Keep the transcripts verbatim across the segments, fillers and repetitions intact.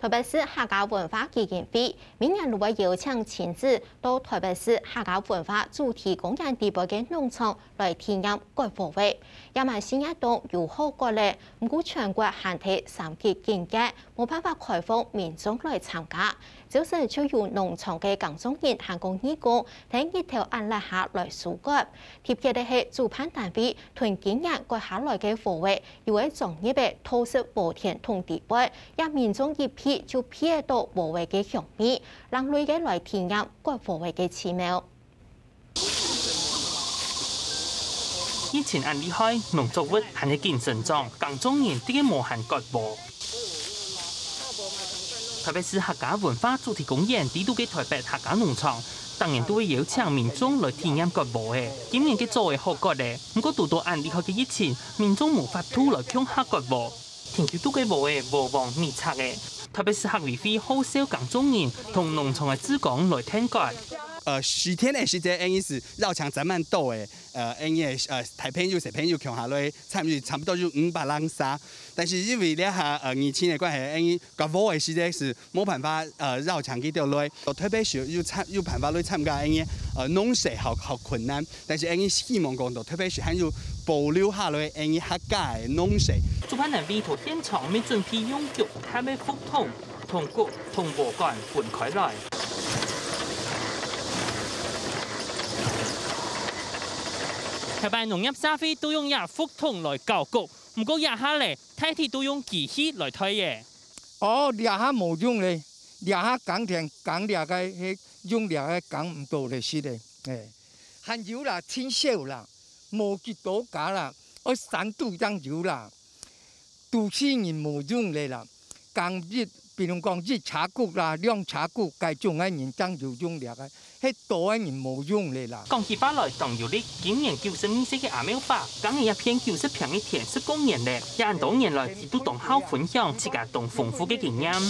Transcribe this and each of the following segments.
台北市客家文化基金會每年都會邀請親子到台北市客家文化主題公園底背个農場來體驗割禾仔，也蠻新穎當有好割咧。毋過全國限制三級警戒，無辦法開放民眾來參加。朝晨就有農場个耕種人還過義工，在日頭恁烈下來收割。特別个係，主辦單位同今年割下來个禾仔，有个裝入个透色禾田桶底背， 也民眾一鼻就鼻得到禾仔个香味，另類个來體驗割禾仔个奇妙。疫情恁厲害，農作物還係緊生長，耕種人直接無閒割禾。台北市客家文化主題公園底肚个台北客家農場，逐年都會邀請民眾來體驗割禾仔。今年个早仔好割咧，毋過堵到恁厲害个疫情，民眾無法度來共下割禾。 田坵肚个禾仔禾黃密插仔，特別係客委會號召耕種人同農場个志工來𢯭割。呃，十天的時間，𫣆俚係繞場整滿多的，呃，𫣆俚的，呃，大朋友、小朋友共下來參與，差不多有五百零儕。但是因為這下，呃，疫情的關係，𫣆俚割禾的時間係無辦法，呃，繞場去到來，特別係有參，有辦法來參加，𫣆俚，呃，農事好，好困難。 但是𫣆俚希望講到，特別係還有保留下來𫣆俚客家个農事。主辦單位在現場乜準備用腳踏个覆桶，同穀同禾稈分開來。頭擺農業社會都用這覆桶來搞穀，毋過這下咧，大體都用機器來代咧。哦，這下無用咧，這下耕田耕這个，係用這个耕毋到咧，係咧，嘿。 還有啦，盡少啦，無幾多家啦，愛三度正有啦。都市人無用咧啦，耕一，比如講一車穀啦、兩車穀，該種个人正有用了个，係多个人無用咧啦。講起話來當有力，今年九十二歲个阿妙爸，耕了一片九十坪个田十過年咧，也恁多年來，佢都當好分享自家當豐富个經驗。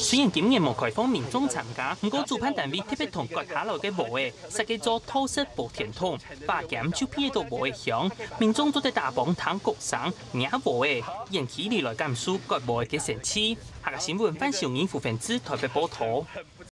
雖然今年無開放民眾參加，毋過主辦單位特別同割下來个禾仔設計做透色禾田桶，揹撿就鼻得到禾仔香，民眾做得打拚聽穀聲、摸禾仔，遠距離來感受割禾仔个神奇。客家新聞范小英、傅凡志台北報導。